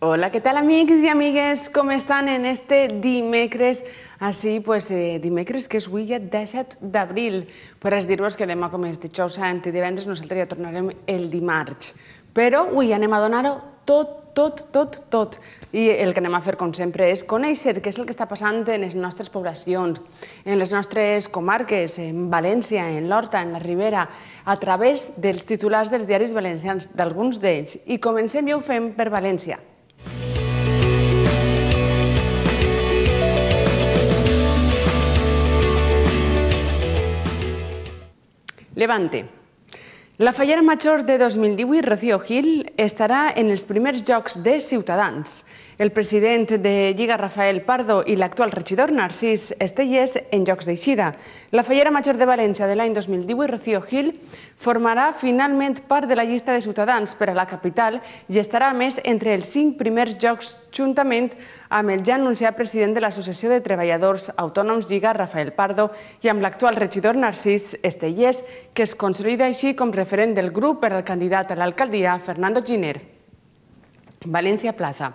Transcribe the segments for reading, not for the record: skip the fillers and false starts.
Hola, ¿qué tal amics i amigues? Com estan en este dimecres? Dimecres que és avui ja 17 d'abril. Per dir-vos que demà, com és dijous sant i divendres, nosaltres ja tornarem el dimarts. Però avui anem a donar-ho tot. I el que anem a fer, com sempre, és conèixer què és el que està passant en les nostres poblacions, en les nostres comarques, en València, en l'Horta, en la Ribera, a través dels titulars dels diaris valencians, d'alguns d'ells. I comencem i ho fem per València. Levante. La fallera major de 2018, Rocío Gil, estarà en els primers Jocs de Ciutadans. El president de Lliga, Rafael Pardo, i l'actual regidor, Narcís Estellés, en Jocs d'Eixida. La fallera major de València de l'any 2018, Rocío Gil, formarà finalment part de la llista de Ciutadans per a la capital i estarà, a més, entre els 5 primers Jocs, juntament amb el ja anunciat president de l'Associació de Treballadors Autònoms Lliga, Rafael Pardo, i amb l'actual regidor Narcís Estellés, que es consolida així com referent del grup per al candidat a l'alcaldia, Fernando Giner. València Plaza.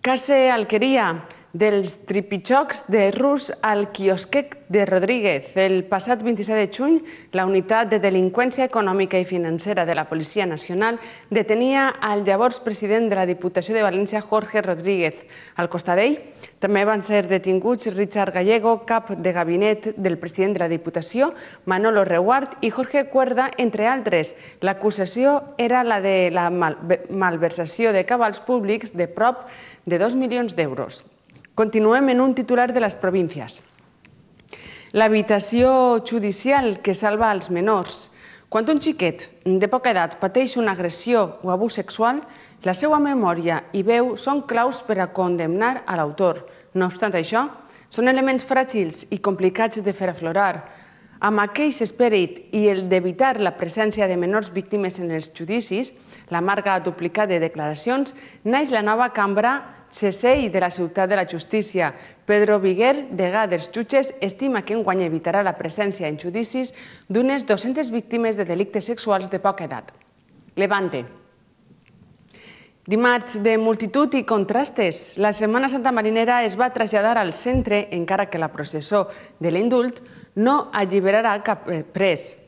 Case Alqueria, dels tripitxocs de Rus al quiosquet de Rodríguez. El passat 27 de juny, la Unitat de Delinqüència Econòmica i Financera de la Policia Nacional detenia al llavors president de la Diputació de València, Jorge Rodríguez. Al costat d'ell també van ser detinguts Richard Gallego, cap de gabinet del president de la Diputació, Manolo Reguart i Jorge Cuerda, entre altres. L'acusació era la de la malversació de cabals públics de prop de 2 milions d'euros. Continuem en un titular de les províncies. L'habitació judicial que salva els menors. Quan un xiquet de poca edat pateix una agressió o abús sexual, la seva memòria i veu són claus per a condemnar a l'autor. No obstant això, són elements fràgils i complicats de fer aflorar. Amb aquell esperit i el d'evitar la presència de menors víctimes en els judicis, la marca duplicada de declaracions, naix la nova cambra CSI de la Ciutat de la Justícia. Pedro Viguer, degà dels jutges, estima que enguany evitarà la presència en judicis d'unes 200 víctimes de delictes sexuals de poca edat. Levante. Dimarts de multitud i contrastes. La Setmana Santa Marinera es va traslladar al centre, encara que la processó de l'indult no alliberarà cap pres.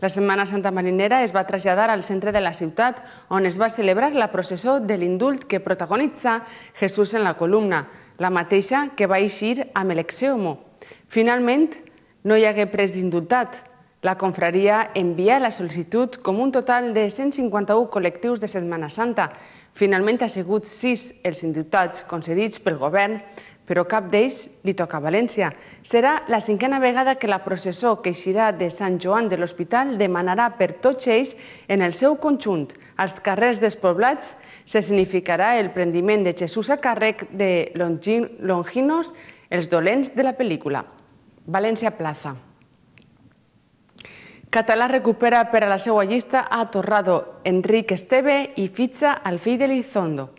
La Setmana Santa Marinera es va traslladar al centre de la ciutat, on es va celebrar la processó de l'indult que protagonitza Jesús en la columna, la mateixa que va eixir amb l'Exeomo. Finalment, no hi hagué pres d'indultat. La confraria envia la sol·licitud com un total de 151 col·lectius de Setmana Santa. Finalment ha sigut 6 els indultats concedits pel govern, però cap d'ells li toca a València. Serà la 5a vegada que la processó que eixirà de Sant Joan de l'Hospital demanarà per tots ells, en el seu conjunt, als carrers despoblats, se significarà el prendiment de Jesús a càrrec de Longinos, els dolents de la pel·lícula. València Plaza. Català recupera per a la seva llista a Torrado, Enric Esteve i fitxa al fill de Lizondo.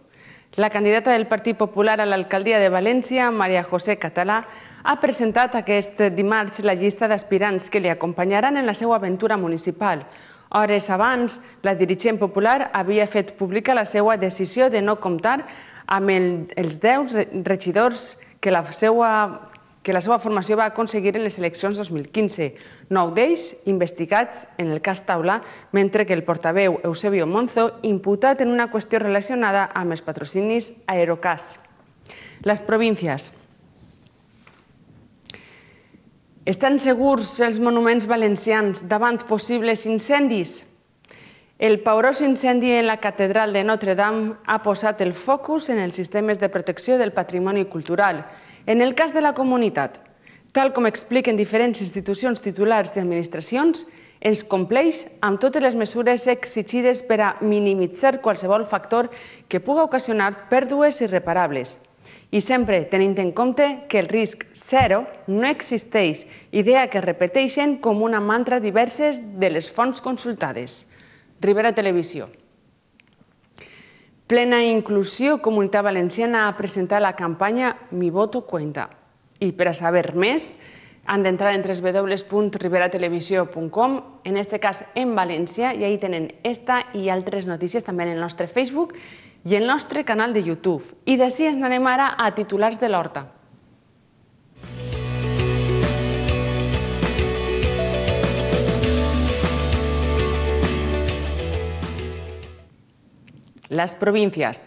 La candidata del Partit Popular a l'alcaldia de València, Maria José Català, ha presentat aquest dimarts la llista d'aspirants que li acompanyaran en la seva aventura municipal. Hores abans, la dirigent popular havia fet pública la seva decisió de no comptar amb els 10 regidors que la seva formació va aconseguir en les eleccions 2015, 9 d'ells investigats en el cas Taula, mentre que el portaveu Eusebio Monzo imputat en una qüestió relacionada amb els patrocinis Aerocas. Les províncies. Estan segurs els monuments valencians davant possibles incendis? El paorós incendi en la catedral de Notre-Dame ha posat el focus en els sistemes de protecció del patrimoni cultural. En el cas de la comunitat, tal com expliquen diferents institucions titulars d'administracions, es compleix amb totes les mesures exigides per a minimitzar qualsevol factor que puga ocasionar pèrdues irreparables. I sempre tenint en compte que el risc zero no existeix, idea que repeteixen com una mantra diverses de les fonts consultades. Ribera Televisió. Plena Inclusió Comunitat Valenciana ha presentat la campanya Mi voto cuenta. I per a saber més, han d'entrar en www.riberatelevisió.com, en aquest cas en València, i ahí tenen esta i altres notícies també en el nostre Facebook i el nostre canal de YouTube. I d'ací ens anem ara a titulars de l'Horta. Les províncies.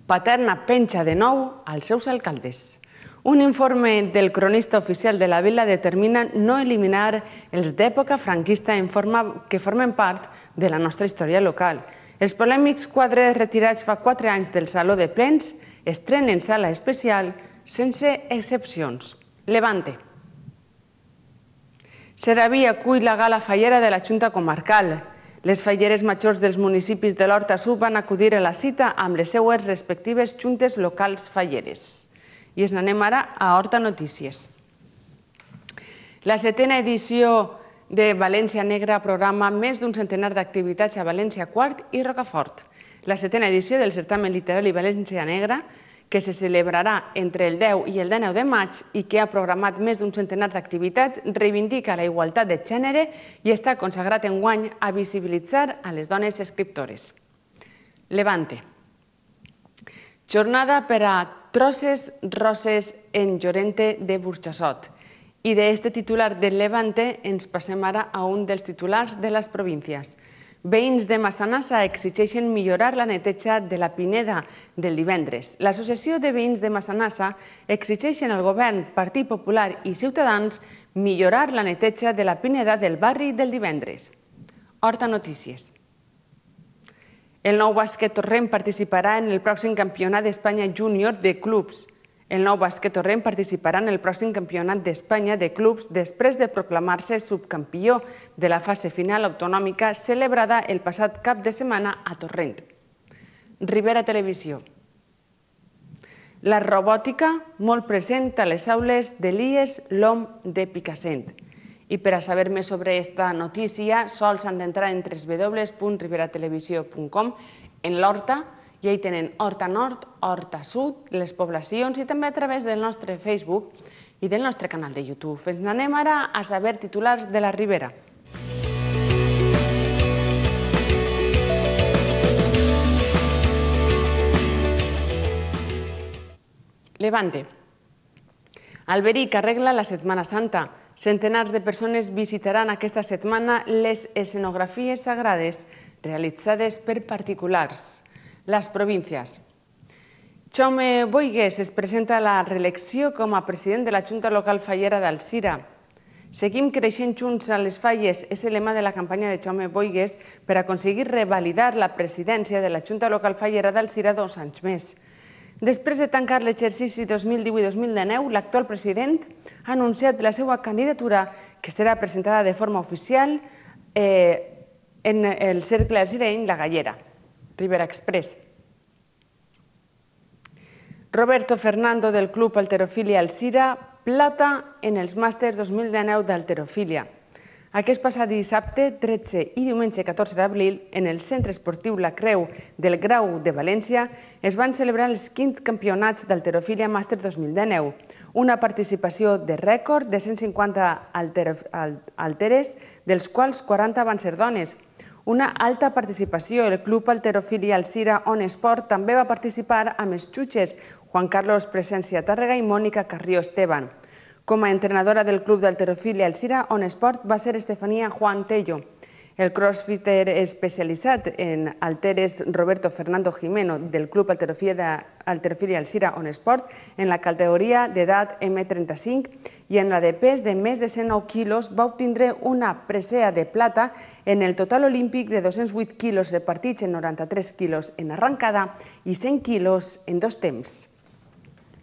Paterna penja de nou als seus alcaldes. Un informe del cronista oficial de la vila determina no eliminar els d'època franquista que formen part de la nostra història local. Els polèmics quadres retirats fa 4 anys del Saló de Plens estrenen sala especial sense excepcions. Levante. Sedaví acull la gala fallera de la Junta Comarcal. Les falleres majors dels municipis de l'Horta Sud van acudir a la cita amb les seues respectives juntes locals falleres. I ens n'anem ara a Horta Notícies. La 7a edició de València Negra programa més d'un centenar d'activitats a València Quart i Rocafort. La 7a edició del certamen literari València Negra, que se celebrarà entre el 10 i el 19 de maig i que ha programat més d'un centenar d'activitats, reivindica la igualtat de gènere i està consagrat enguany a visibilitzar a les dones escriptores. Levante. Jornada per a Trosses Roses en Llorente de Burjassot. I d'este titular del Levante ens passem ara a un dels titulars de les províncies. Veïns de Massanassa exigeixen millorar la neteja de la Pineda del divendres. L'Associació de Veïns de Massanassa exigeixen al govern, Partit Popular i Ciutadans millorar la neteja de la Pineda del barri del divendres. Horta Notícies. El Nou Bàsquet Torrent participarà en el pròxim Campionat d'Espanya Júnior de Clubs. El Nou Bàsquet Torrent participarà en el pròxim Campionat d'Espanya de Clubs després de proclamar-se subcampió de la fase final autonòmica celebrada el passat cap de setmana a Torrent. Ribera Televisió. La robòtica molt present a les aules de l'IES LOM de Picassent. I per a saber més sobre aquesta notícia, sols han d'entrar en www.riberatelevisió.com en l'Horta, i ahí tenen Horta Nord, Horta Sud, les poblacions i també a través del nostre Facebook i del nostre canal de YouTube. Ens n'anem ara a saber titulars de la Ribera. Levante. Alberic arregla la Setmana Santa. Centenars de persones visitaran aquesta setmana les escenografies sagrades realitzades per particulars. Les províncies. Jaume Boigues es presenta a la reelecció com a president de la Junta Local Fallera d'Alzira. Seguim creixent junts a les falles és el lema de la campanya de Jaume Boigues per aconseguir revalidar la presidència de la Junta Local Fallera d'Alzira 2 anys més. Després de tancar l'exercici 2018-2019, l'actual president ha anunciat la seva candidatura, que serà presentada de forma oficial en el cercle alzireny La Gallera. Ribera Express. Roberto Fernando del Club Halterofília Alzira, plata en els màsters 2019 d'halterofília. Aquest passat dissabte 13 i diumenge 14 d'abril, en el Centre Esportiu La Creu del Grau de València, es van celebrar els 5 campionats d'halterofília màster 2019, una participació de rècord de 150 halteres, dels quals 40 van ser dones. Una alta participació. El Club Halterofília Alzira On Esport també va participar amb els xutxes Juan Carlos Presencia Tàrrega i Mònica Carrió Esteban. Com a entrenadora del Club d'Halterofília Alzira On Esport va ser Estefanía Juan Tello. El crossfitter especialitzat en halteres Roberto Fernando Jimeno del Club Halterofília Alzira On Esport en la categoria d'edat M35 i en la de pes de més de 109 quilos va obtindre una presea de plata en el total olímpic de 208 quilos repartits en 93 quilos en arrancada i 100 quilos en 2 temps.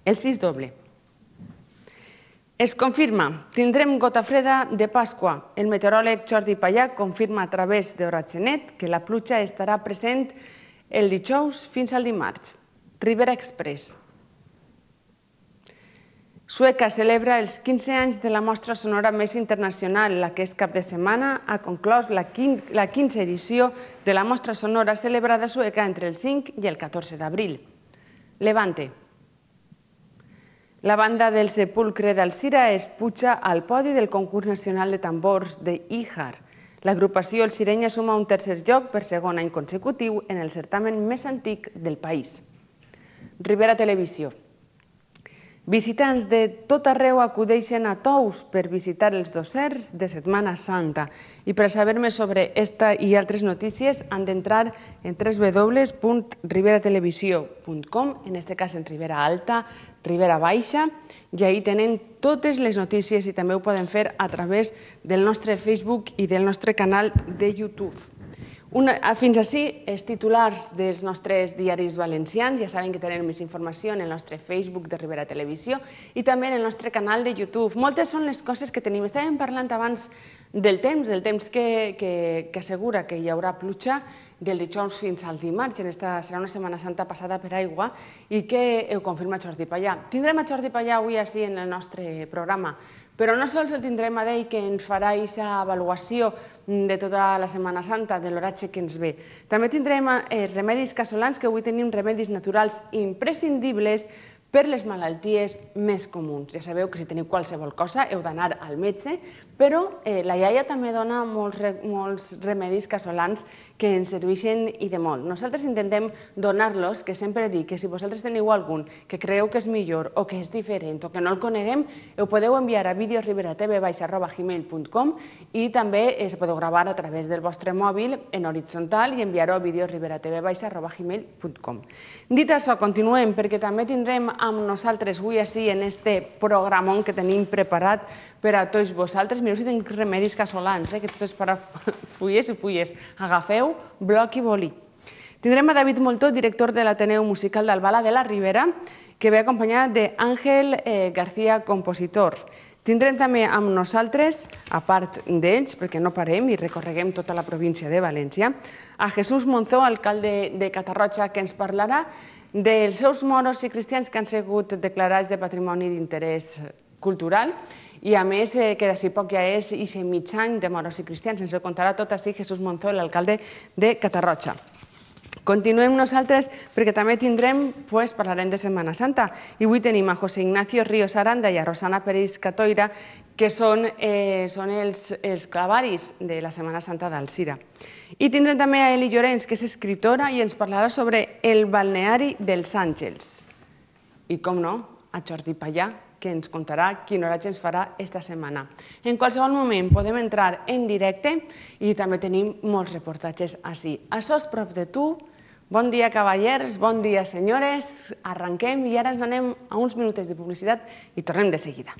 El 6 doble. Es confirma, tindrem gota freda de Pasqua. El meteoròleg Jordi Pallà confirma a través d'Oratgenet que la pluja estarà present el dijous fins al dimarts. Ribera Express. Sueca celebra els 15 anys de la mostra sonora més internacional. Aquest cap de setmana ha conclòs la 15a edició de la mostra sonora celebrada a Sueca entre el 5 i el 14 d'abril. Levante. La banda del Sepulcre d'Alzira es puja al podi del concurs nacional de tambors de Íjar. L'agrupació alzirenya suma un tercer lloc per segon any consecutiu en el certamen més antic del país. Ribera Televisió. Visitants de tot arreu acudeixen a Tous per visitar els dossers de Setmana Santa. I per saber més sobre esta i altres notícies han d'entrar en www.riberatelevisió.com, en aquest cas en Ribera Alta, Ribera Baixa, i ahí tenen totes les notícies i també ho poden fer a través del nostre Facebook i del nostre canal de YouTube. Fins així, els titulars dels nostres diaris valencians. Ja saben que tenen més informació en el nostre Facebook de Ribera Televisió i també en el nostre canal de YouTube. Moltes són les coses que tenim. Estàvem parlant abans del temps que assegura que hi haurà pluja del dijous fins al dimarts. Serà una Setmana Santa passada per aigua i que ho confirma Jordi Pallà. Tindrem a Jordi Pallà avui així en el nostre programa, però no sols el tindrem a ell, que ens farà aquesta avaluació de tota la Setmana Santa, de l'oratge que ens ve. També tindrem remedis casolans, que avui tenim remedis naturals imprescindibles per les malalties més comuns. Ja sabeu que si teniu qualsevol cosa heu d'anar al metge, però la iaia també dona molts remedis casolans que ens serveixen i de molt. Nosaltres intentem donar-los, que sempre dic que si vosaltres teniu algun que creieu que és millor o que és diferent o que no el coneguem, ho podeu enviar a videosriberatv@gmail.com i també es podeu gravar a través del vostre mòbil en horitzontal i enviar-ho a videosriberatv@gmail.com. Dit això, continuem, perquè també tindrem amb nosaltres avui així en este programón que tenim preparat per a tots vosaltres. Mireu si tinc remedis casolans, que tot és per a fulles i fulles. Agafeu bloc i boli. Tindrem a David Moltó, director de l'Ateneu Musical d'Albala de la Ribera, que ve acompanyat d'Àngel García, compositor. Tindrem també amb nosaltres, a part d'ells, perquè no parem i recorreguem tota la província de València, a Jesús Monzó, alcalde de Catarroja, que ens parlarà dels seus moros i cristians que han sigut declarats de patrimoni d'interès cultural i, a més, que d'ací poc ja és aquest mig any de moros i cristians. Ens ho contarà tot així Jesús Monzó, l'alcalde de Catarroja. Continuem nosaltres perquè també parlarem de Setmana Santa. I avui tenim a José Ignacio Ríos Aranda i a Rosana Peris Catoira, que són els clavaris de la Setmana Santa d'Alzira. I tindrem també a Eli Llorenç, que és escriptora i ens parlarà sobre el balneari dels Àngels. I, com no, a Jordi Pallà, que ens contarà quin oratge ens farà esta setmana. En qualsevol moment podem entrar en directe i també tenim molts reportatges així. Això és prop de tu. Bon dia, cavallers, bon dia, senyores. Arrenquem i ara ens anem a uns minutets de publicitat i tornem de seguida.